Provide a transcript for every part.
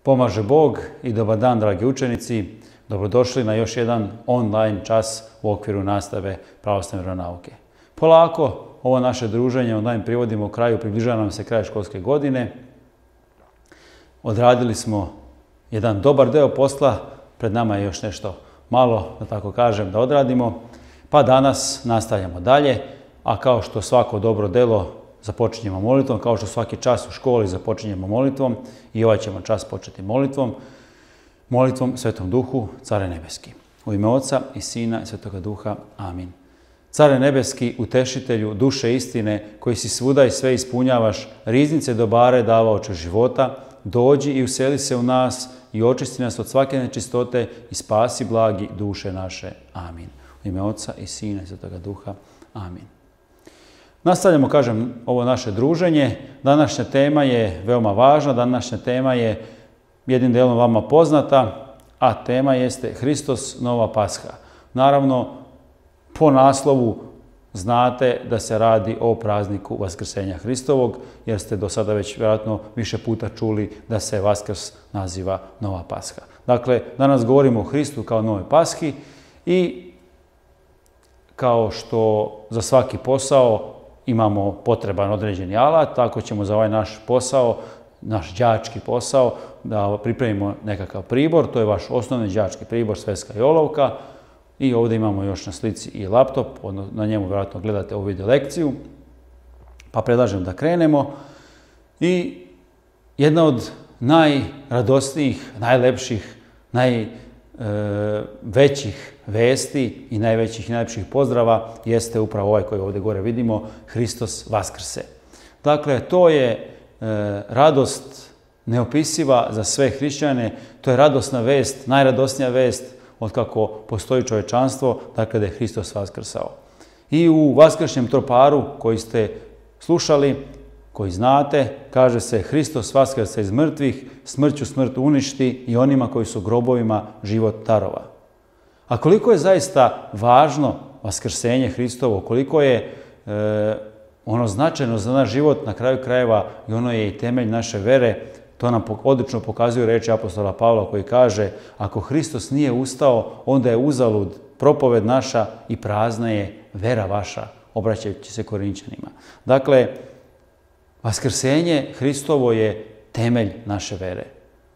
Pomaže Bog i dobar dan, dragi učenici. Dobrodošli na još jedan online čas u okviru nastave pravoslavne vjeronauke. Polako ovo naše druženje online privodimo u kraju, približava nam se kraj školske godine. Odradili smo jedan dobar deo posla, pred nama je još nešto malo, da tako kažem, da odradimo. Pa danas nastavljamo dalje, a kao što svako dobro delo započinjemo molitvom, kao što svaki čas u školi započinjemo molitvom, i ovaj ćemo čas početi molitvom Svetom Duhu, Care nebeski. U ime Oca i Sina i Svetoga Duha. Amin. Care nebeski, utešitelju, duše istine, koji si svuda i sve ispunjavaš, riznice dobare davaoče života, dođi i useli se u nas i očisti nas od svake nečistote i spasi blagi duše naše. Amin. U ime Oca i Sina i Svetoga Duha. Amin. Nastavljamo, kažem, ovo naše druženje. Današnja tema je veoma važna, današnja tema je jednim delom vama poznata, a tema jeste Hristos, nova Pasha. Naravno, po naslovu znate da se radi o prazniku Vaskrsenja Hristovog, jer ste do sada već vjerojatno više puta čuli da se Vaskrs naziva nova Pasha. Dakle, danas govorimo o Hristu kao novoj Pashi i kao što za svaki posao imamo potreban određeni alat, tako ćemo za ovaj naš posao, naš đački posao, da pripremimo nekakav pribor. To je vaš osnovni đački pribor, sveska i olovka. I ovdje imamo još na slici i laptop, na njemu vjerojatno gledate ovu video lekciju. Pa predlažem da krenemo. I jedna od najradosnijih, najlepših, najvećih vesti i najvećih i najlepših pozdrava jeste upravo ovaj koji ovdje gore vidimo, Hristos Vaskrse. Dakle, to je radost neopisiva za sve hrišćane, to je radosna vest, najradosnija vest od kako postoji čovječanstvo, dakle da je Hristos vaskrsao. I u vaskršnjem troparu koji ste slušali, koji znate, kaže se Hristos vaskrse iz mrtvih, smrću smrt uništi i onima koji su grobovima život darova. A koliko je zaista važno vaskrsenje Hristovo, koliko je ono značajno za naš život, na kraju krajeva i ono je i temelj naše vere, to nam odlično pokazuju reči apostola Pavla koji kaže: ako Hristos nije ustao, onda je uzalud propoved naša i prazna je vera vaša, obraćajući se Korinčanima. Dakle, vaskrsenje Hristovo je temelj naše vere.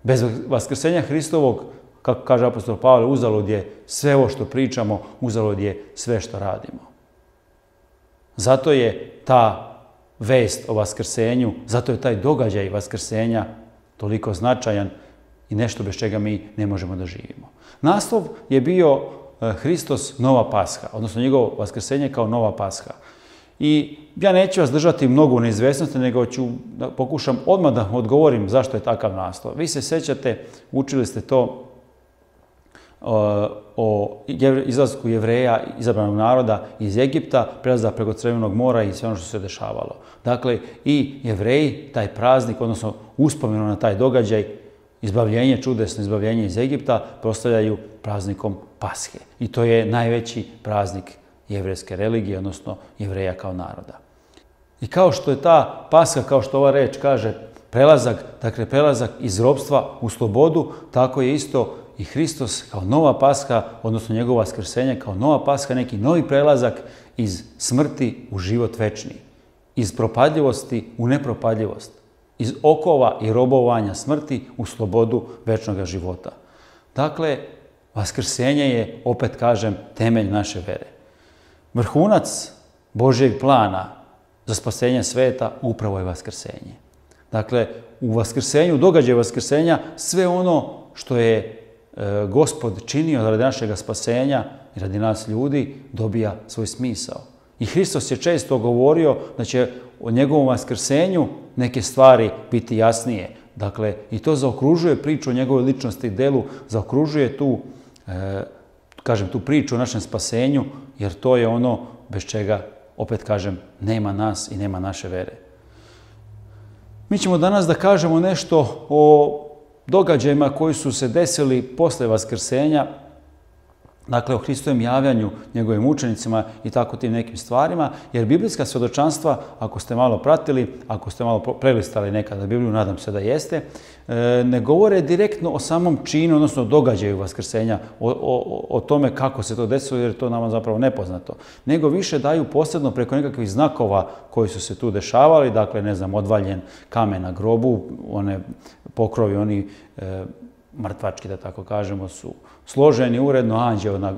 Bez vaskrsenja Hristovog, kako kaže apostol Pavle, uzalud je sve ovo što pričamo, uzalud je sve što radimo. Zato je ta vest o vaskrsenju, zato je taj događaj vaskrsenja toliko značajan i nešto bez čega mi ne možemo da živimo. Naslov je bio Hristos, nova Pasha, odnosno njegovo vaskrsenje kao nova Pasha. I ja neću vas držati mnogo u neizvesnosti, nego ću da pokušam odmah da odgovorim zašto je takav naslov. Vi se sećate, učili ste to o izlasku Jevreja, izabranog naroda iz Egipta, prelazak preko Crvenog mora i sve ono što se dešavalo. Dakle, i Jevreji, taj praznik, odnosno uspomenu na taj događaj, izbavljenje, čudesno izbavljenje iz Egipta, proslavljaju praznikom Pashe. I to je najveći praznik jevrejske religije, odnosno Jevreja kao naroda. I kao što je ta Pasha, kao što ova reč kaže, prelazak, dakle prelazak iz ropstva u slobodu, tako je isto i Hristos kao nova Pasha, odnosno njegovo vaskrsenje kao nova Pasha, neki novi prelazak iz smrti u život večni, iz propadljivosti u nepropadljivost, iz okova i robovanja smrti u slobodu večnog života. Dakle, vaskrsenje je, opet kažem, temelj naše vere. Vrhunac Božjeg plana za spasenje sveta upravo je vaskrsenje. Dakle, u vaskrsenju, događaju vaskrsenja, sve ono što je Gospod činio radi našeg spasenja i radi nas ljudi, dobija svoj smisao. I Hristos je često govorio da će o njegovom vaskrsenju neke stvari biti jasnije. Dakle, i to zaokružuje priču o njegovoj ličnosti i delu, zaokružuje tu priču o našem spasenju, jer to je ono bez čega, opet kažem, nema nas i nema naše vere. Mi ćemo danas da kažemo nešto o događajima koji su se desili posle vaskrsenja dakle o Hristovom javljanju njegovim učenicima i tako tim nekim stvarima, jer biblijska svjedočanstva, ako ste malo pratili, ako ste malo prelistali nekada Bibliju, nadam se da jeste, ne govore direktno o samom činu, odnosno događaju vaskrsenja, o tome kako se to desilo, jer je to nama zapravo nepoznato, nego više daju posebno preko nekakvih znakova koji su se tu dešavali, dakle, ne znam, odvaljen kamen na grobu, one pokrovi, oni mrtvački, da tako kažemo, su složeni uredno,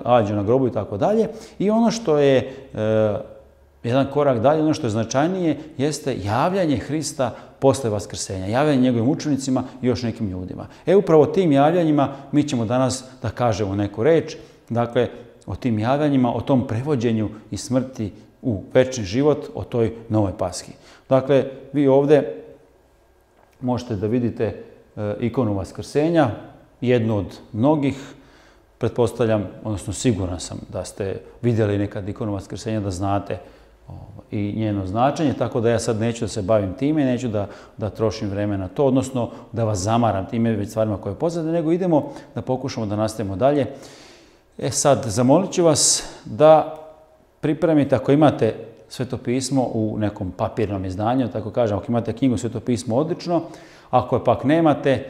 anđeo na grobu i tako dalje. I ono što je jedan korak dalje, ono što je značajnije, jeste javljanje Hrista posle vaskrsenja, javljanje njegovim učenicima i još nekim ljudima. Upravo tim javljanjima mi ćemo danas da kažemo neku reč, dakle, o tim javljanjima, o tom prevođenju i smrti u večni život, o toj novoj paski. Dakle, vi ovdje možete da vidite ikonu vaskrsenja, jednu od mnogih, pretpostavljam, odnosno siguran sam da ste vidjeli nekad ikonu vaskrsenja, da znate i njeno značenje, tako da ja sad neću da se bavim time, neću da trošim vreme na to, odnosno da vas zamaram time već stvarima koje poznate, nego idemo da pokušamo da nastavimo dalje. Sad, zamolit ću vas da pripremite, ako imate Sveto pismo u nekom papirnom izdanju, tako kažem, ako imate knjigu Sveto pismo, odlično. Ako je pak nemate,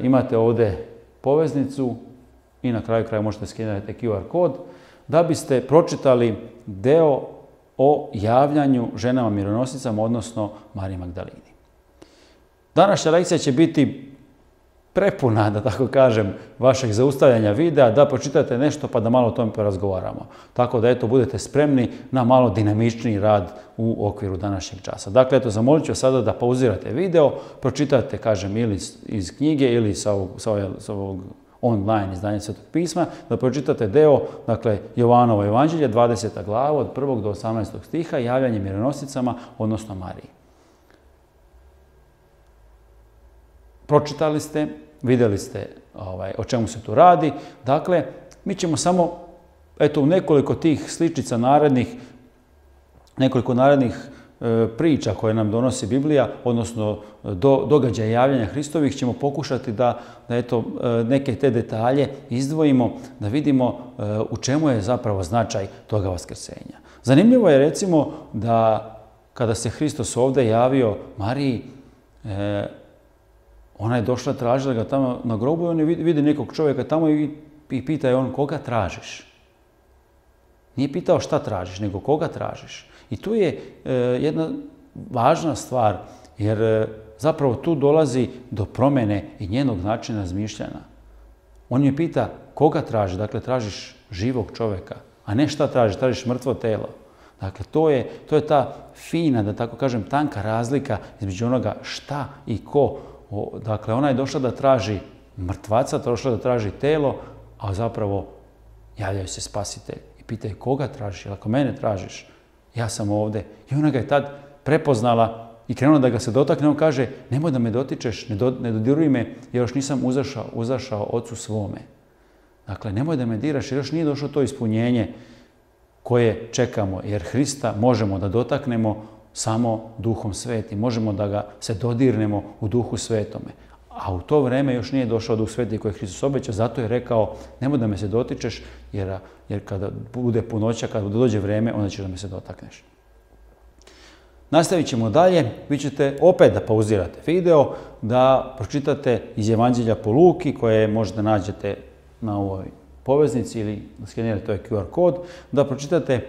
imate ovdje poveznicu i na kraju kraja možete skenirati QR kod, da biste pročitali deo o javljanju ženama mironosicama, odnosno Mariji Magdalini. Današnja lekcija će biti prepuna, da tako kažem, vašeg zaustavljanja videa, da pročitate nešto pa da malo o tome porazgovaramo. Tako da, eto, budete spremni na malo dinamičniji rad u okviru današnjeg časa. Dakle, eto, zamolit ću vas sada da pauzirate video, pročitate, kažem, ili iz knjige ili sa ovog online izdanja Svetog pisma, da pročitate deo, dakle, Jovanovo evanđelje, 20. glava, od 1. do 18. stiha, javljanje mironosicama, odnosno Mariji. Pročitali ste, vidjeli ste o čemu se tu radi. Dakle, mi ćemo samo, eto, u nekoliko tih sličica nekoliko narednih priča koje nam donosi Biblija, odnosno događaja javljanja Hristovih, ćemo pokušati da eto, neke te detalje izdvojimo, da vidimo u čemu je zapravo značaj toga vaskrsenja. Zanimljivo je, recimo, da kada se Hristos ovdje javio Mariji, ona je došla, tražila ga tamo na grobu i on vidi nekog čovjeka tamo i pita je on, koga tražiš? Nije pitao šta tražiš, nego koga tražiš. I tu je jedna važna stvar, jer zapravo tu dolazi do promjene i njenog načina razmišljanja. On je pita koga traži, dakle tražiš živog čovjeka, a ne šta tražiš, tražiš mrtvo telo. Dakle, to je ta fina, da tako kažem, tanka razlika između onoga šta i ko. Dakle, ona je došla da traži mrtvaca, došla da traži telo, a zapravo javljaju se spasitelj i pitaju koga tražiš, jer ako mene tražiš, ja sam ovdje. I ona ga je tad prepoznala i krenula da ga se dotakne. On kaže, nemoj da me dotičeš, ne dodiruj me, jer još nisam uzašao Ocu svome. Dakle, nemoj da me diraš, jer još nije došlo to ispunjenje koje čekamo, jer Hrista možemo da dotaknemo samo Duhom Svetim. Možemo da ga se dodirnemo u Duhu Svetome. A u to vreme još nije došao Duh Sveti koji je Hristos obećao, zato je rekao, nemoj da me se dotičeš, jer kada bude punoća, kada dođe vreme, onda ćeš da me se dotakneš. Nastavit ćemo dalje, vi ćete opet da pauzirate video, da pročitate iz Evanđelja po Luki, koje možda nađete na ovoj poveznici ili skenirate ovaj QR kod, da pročitate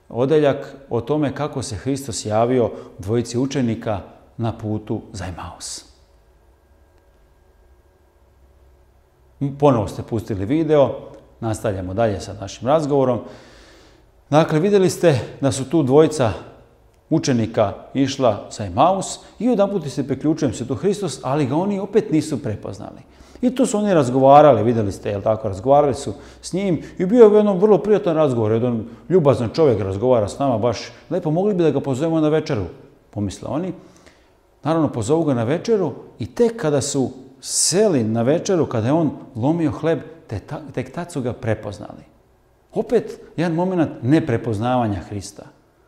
odeljak o tome kako se Hristos javio dvojici učenika na putu za Emaus. Ponovo ste pustili video, nastavljamo dalje sa našim razgovorom. Dakle, vidjeli ste da su tu dvojica učenika išla za Emaus i odjedanput se priključujem se tu Hristos, ali ga oni opet nisu prepoznali. I tu su oni razgovarali, vidjeli ste, jel tako, razgovarali su s njim i bio je jedan vrlo prijatan razgovor, jedan ljubazan čovjek razgovara s nama, baš lepo, mogli bi da ga pozovemo na večeru, pomisle oni. Naravno, pozovu ga na večeru i tek kada su seli na večeru, kada je on lomio hleb, tek tad su ga prepoznali. Opet jedan moment neprepoznavanja Hrista.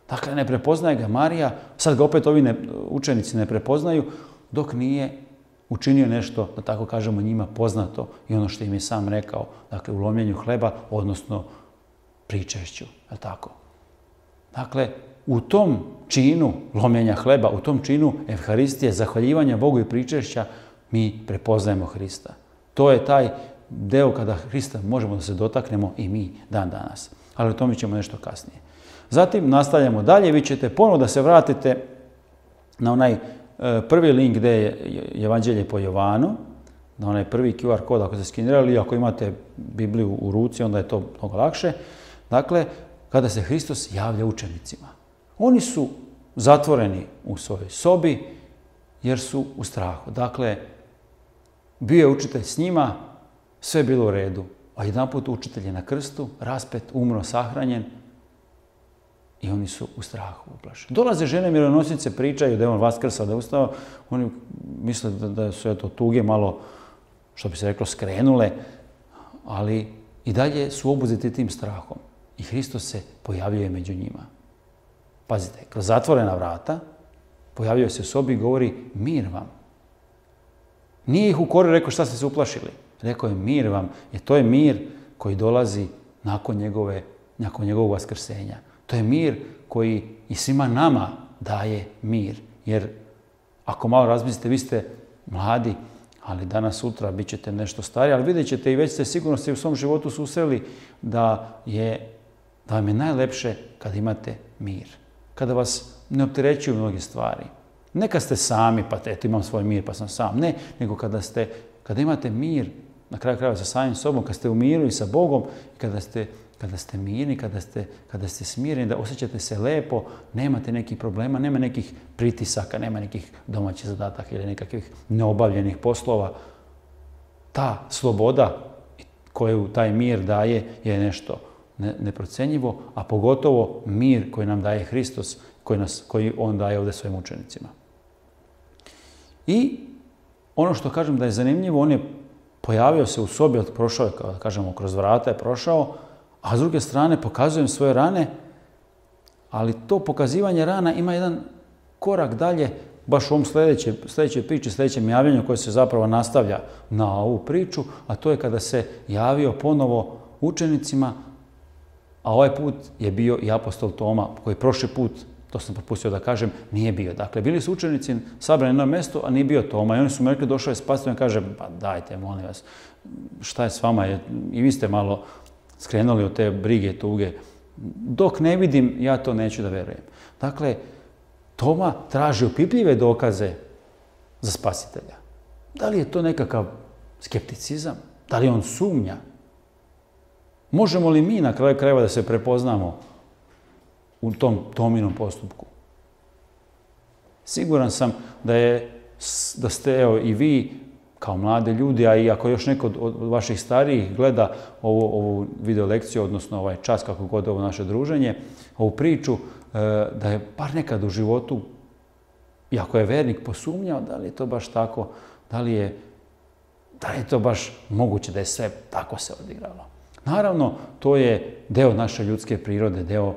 Dakle, ne prepoznaje ga Marija, sad ga opet ovi učenici ne prepoznaju, dok nije učinio nešto, da tako kažemo, njima poznato i ono što im je sam rekao, dakle u lomljenju hleba, odnosno pričešću, je tako? Dakle, u tom činu lomljenja hleba, u tom činu Evharistije, zahvaljivanja Bogu i pričešća, mi prepoznajemo Hrista. To je taj deo kada Hrista možemo da se dotaknemo i mi dan danas. Ali o tome ćemo nešto kasnije. Zatim nastavljamo dalje, vi ćete ponovo da se vratite na onaj prvi link gdje je Evanđelje po Jovanu, na onaj prvi QR kod ako ste skenirali, ako imate Bibliju u ruci, onda je to mnogo lakše. Dakle, kada se Hristos javlja učenicima. Oni su zatvoreni u svojoj sobi jer su u strahu. Dakle, bio je učitelj s njima, sve je bilo u redu. A jedanput učitelj je na krstu, raspet, umro, sahranjen i oni su u strahu, uplašeni. Dolaze žene mironosice, pričaju da je on vaskrsao, da je ustao. Oni misle da su eto tuge malo, što bi se reklo, skrenule, ali i dalje su obuzeti tim strahom. I Hristos se pojavljuje među njima. Pazite, kroz zatvorena vrata pojavljuje se u sobi i govori mir vam. Nije ih ukorio, rekao šta ste se uplašili. Rekao je mir vam, jer to je mir koji dolazi nakon njegovog vaskrsenja. To je mir koji i svima nama daje mir. Jer ako malo razmislite, vi ste mladi, ali danas, sutra bit ćete nešto stariji, ali vidjet ćete i već ste sigurno u svom životu susreli da vam je najlepše kada imate mir. Kada vas ne opterećuju mnoge stvari. Ne kad ste sami, pa eto imam svoj mir pa sam sam. Ne, nego kada imate mir, na kraju krajeva sa samim sobom, kad ste u miru i sa Bogom, kada ste mirni, kada ste smireni, da osjećate se lepo, nemate nekih problema, nema nekih pritisaka, nema nekih domaćih zadataka ili nekakvih neobavljenih poslova. Ta sloboda koju taj mir daje je nešto neprocenjivo, a pogotovo mir koji nam daje Hristos, koji on daje ovdje svojim učenicima. I ono što kažem da je zanimljivo, on je pojavio se u sobi, prošao je, kao kažemo, kroz vrata je prošao, a s druge strane pokazujem svoje rane, ali to pokazivanje rana ima jedan korak dalje, baš u ovom sljedećoj priči, sljedećem javljanju koje se zapravo nastavlja na ovu priču, a to je kada se javio ponovo učenicima, a ovaj put je bio i apostol Toma, koji prošli put, to sam propustio da kažem, nije bio. Dakle, bili su učenici sabrani na jedno mjesto, a nije bio Toma. I oni su mu rekli, došao je spasitelj i kaže, pa dajte, molim vas, šta je s vama? I vi ste malo skrenuli od te brige, tuge. Dok ne vidim, ja to neću da verujem. Dakle, Toma traži opipljive dokaze za spasitelja. Da li je to nekakav skepticizam? Da li on sumnja? Možemo li mi na kraju krajeva da se prepoznamo u tom Tominom postupku? Siguran sam da ste evo, i vi kao mladi ljudi, a i ako još neko od vaših starijih gleda ovu video lekciju, odnosno ovaj čas, kako god ovo naše druženje, ovu priču, da je bar nekad u životu, i ako je vernik, posumnjao da li je to baš tako, da li je to baš moguće da je sve tako se odigralo. Naravno, to je deo naše ljudske prirode, deo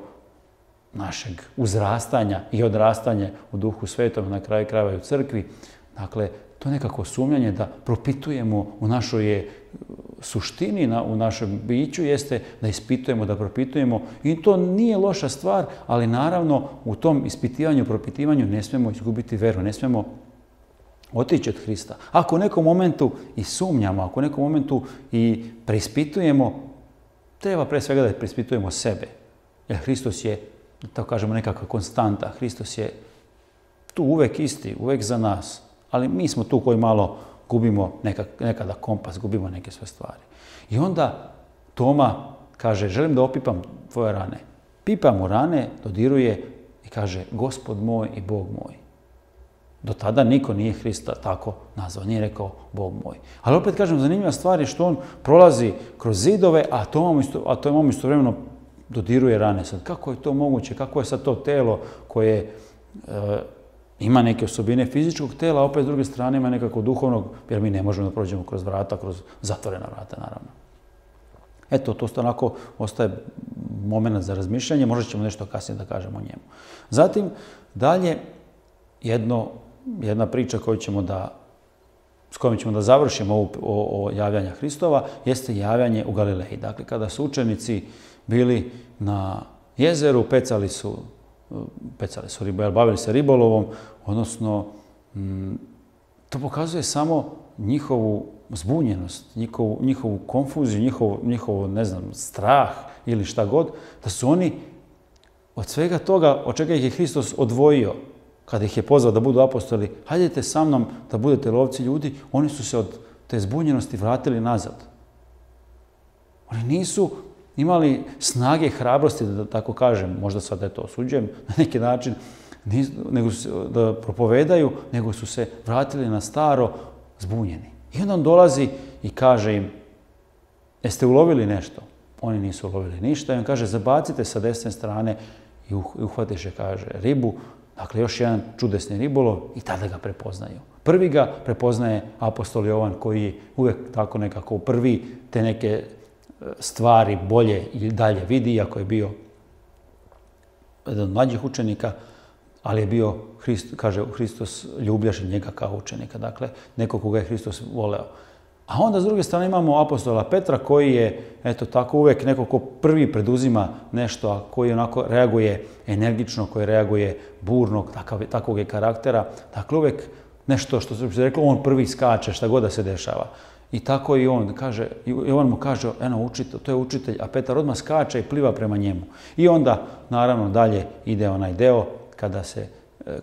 našeg uzrastanja i odrastanja u Duhu Svetom, na kraju krajeva i u crkvi. Dakle, to je nekako sumnjanje da propitujemo u našoj suštini, u našem biću, jeste da ispitujemo, da propitujemo. I to nije loša stvar, ali naravno u tom ispitivanju, propitivanju ne smijemo izgubiti veru, ne smijemo otići od Hrista. Ako u nekom momentu i sumnjamo, ako u nekom momentu i preispitujemo, treba pre svega da preispitujemo sebe. Jer Hristos je, da tako kažemo, nekakva konstanta. Hristos je tu uvek isti, uvek za nas. Ali mi smo tu koji malo gubimo nekada kompas, gubimo neke sve stvari. I onda Toma kaže, želim da opipam tvoje rane. Pipa mu rane, dodiruje i kaže, Gospod moj i Bog moj. Do tada niko nije Hrista tako nazvao, nije rekao Bog moj. Ali opet kažem, zanimljiva stvar je što on prolazi kroz zidove, a Toma istovremeno dodiruje rane. Sad, kako je to moguće? Kako je sad to telo koje ima neke osobine fizičkog tela, a opet s druge strane ima nekako duhovnog, jer mi ne možemo da prođemo kroz vrata, kroz zatvorena vrata, naravno. Eto, to onako ostaje moment za razmišljanje, možda ćemo nešto kasnije da kažemo o njemu. Zatim, dalje, jedna priča s s kojim ćemo da završimo ovo javljanje Hristova, jeste javljanje u Galileji. Dakle, kada su učenici bili na jezeru, bavili se ribolovom, odnosno to pokazuje samo njihovu zbunjenost, njihovu konfuziju, njihovo, ne znam, strah ili šta god, da su oni od svega toga, od čega ih je Hristos odvojio, kada ih je pozvao da budu apostoli, hajdete sa mnom da budete lovci ljudi, oni su se od te zbunjenosti vratili nazad. Oni nisu imali snage, hrabrosti, da tako kažem, možda sad to osuđujem na neki način, da propovedaju, nego su se vratili na staro zbunjeni. I onda on dolazi i kaže im, jeste ulovili nešto? Oni nisu ulovili ništa i on kaže, zabacite sa desne strane i uhvatiše, kaže, ribu. Dakle, još jedan čudesni ribolov i tada ga prepoznaju. Prvi ga prepoznaje apostol Jovan koji je uvijek tako nekako prvi te neke stvari bolje i dalje vidi, iako je bio jedan od mlađih učenika, ali je bio, kaže Hristos, ljubljaši njega kao učenika. Dakle, neko koga je Hristos voleo. A onda s druge strane imamo apostola Petra koji je, eto tako, uvijek neko ko prvi preduzima nešto, a koji onako reaguje energično, koji reaguje burno, takvog je karaktera. Dakle, uvijek nešto što se reklo, on prvi skače, šta god da se dešava. I tako i on kaže, Jovan mu kaže, eno, to je učitelj, a Petar odmah skače i pliva prema njemu. I onda, naravno, dalje ide onaj deo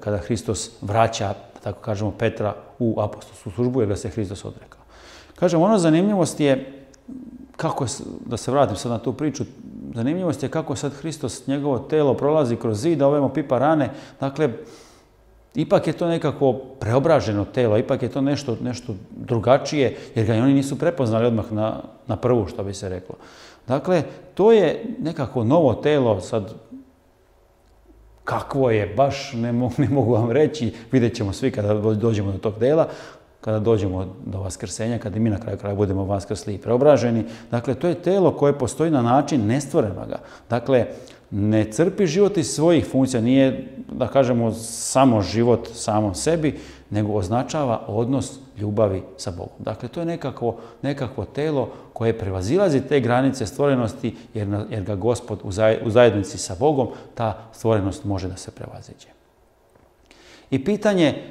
kada Hristos vraća, tako kažemo, Petra u apostolsku službu, jer ga se Hristos odrekao. Kažem, ono zanimljivost je, da se vratim sad na tu priču, zanimljivost je kako sad Hristos, njegovo telo prolazi kroz zid, a ovemo pipa rane. Dakle, ipak je to nekako preobraženo telo, ipak je to nešto drugačije, jer ga i oni nisu prepoznali odmah na prvu, što bi se reklo. Dakle, to je nekako novo telo, sad kakvo je, baš ne mogu vam reći, vidjet ćemo svi kada dođemo do tog dela, kada dođemo do vaskrsenja, kada i mi na kraju kraja budemo vaskrsli i preobraženi. Dakle, to je telo koje postoji na način nestvorenoga. Dakle, ne crpi život iz svojih funkcija, nije, da kažemo, samo život samom sebi, nego označava odnos ljubavi sa Bogom. Dakle, to je nekakvo telo koje prevazilazi te granice stvorenosti, jer ga Gospod u zajednici sa Bogom, ta stvorenost može da se prevaziđe. I pitanje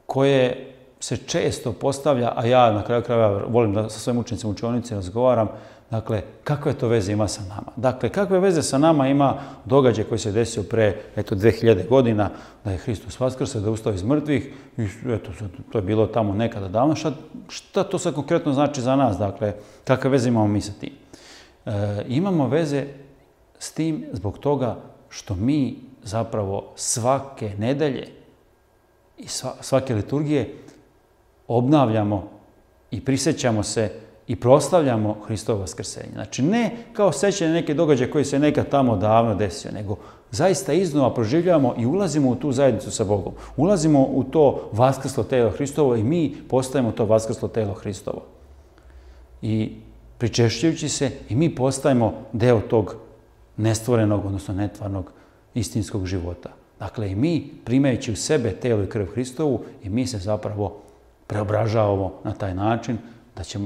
koje se često postavlja, a ja na kraju krajeva volim da sa svojim učenicima u učionici razgovaram, dakle, kakve to veze ima sa nama? Dakle, kakve veze sa nama ima događaj koji se desio pre, 2000 godina, da je Hristos vaskrse, da je ustao iz mrtvih, i to je bilo tamo nekada davno. Šta to sad konkretno znači za nas? Dakle, kakve veze imamo mi sa tim? Imamo veze s tim zbog toga što mi zapravo svake nedelje i svake liturgije obnavljamo i prisjećamo se i proslavljamo Hristovo vaskrsenje. Znači, ne kao sećanje neke događaje koji se nekad tamo davno desio, nego zaista iznova proživljavamo i ulazimo u tu zajednicu sa Bogom. Ulazimo u to vaskrslo telo Hristovo i mi postajemo to vaskrslo telo Hristovo. I pričešćujući se i mi postajemo deo tog nestvorenog, odnosno netvarnog istinskog života. Dakle, i mi, primajući u sebe telo i krv Hristovu, i mi se zapravo preobražavamo na taj način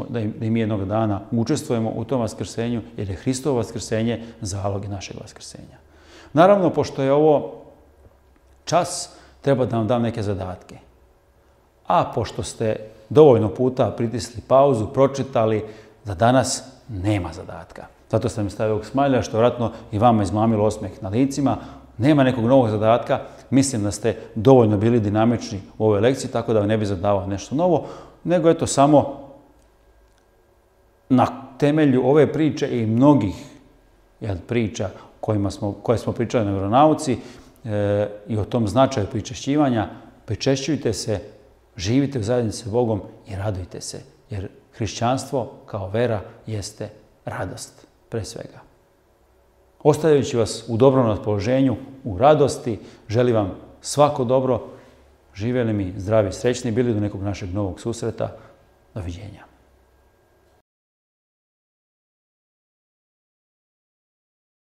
da i mi jednog dana učestvujemo u tom vaskrsenju, jer je Hristovo vaskrsenje zalog našeg vaskrsenja. Naravno, pošto je ovo čas, treba da vam dam neke zadatke. A pošto ste dovoljno puta pritisli pauzu, pročitali da danas nema zadatka. Zato sam mi stavio ovog smajlja, što vjerojatno i vama izmamilo osmeh na licima. Nema nekog novog zadatka. Mislim da ste dovoljno bili dinamični u ovoj lekciji, tako da vam ne bi zadavao nešto novo, nego eto samo na temelju ove priče i mnogih priča koje smo pričali na vjeronauci i o tom značaju pričešćivanja, pričešćujte se, živite u zajednici sa Bogom i radujte se, jer hrišćanstvo kao vera jeste radost pre svega. Ostavljajući vas u dobrom raspoloženju, u radosti, želim vam svako dobro, živjeli mi zdravi i srećni, bili do nekog našeg novog susreta. Doviđenja.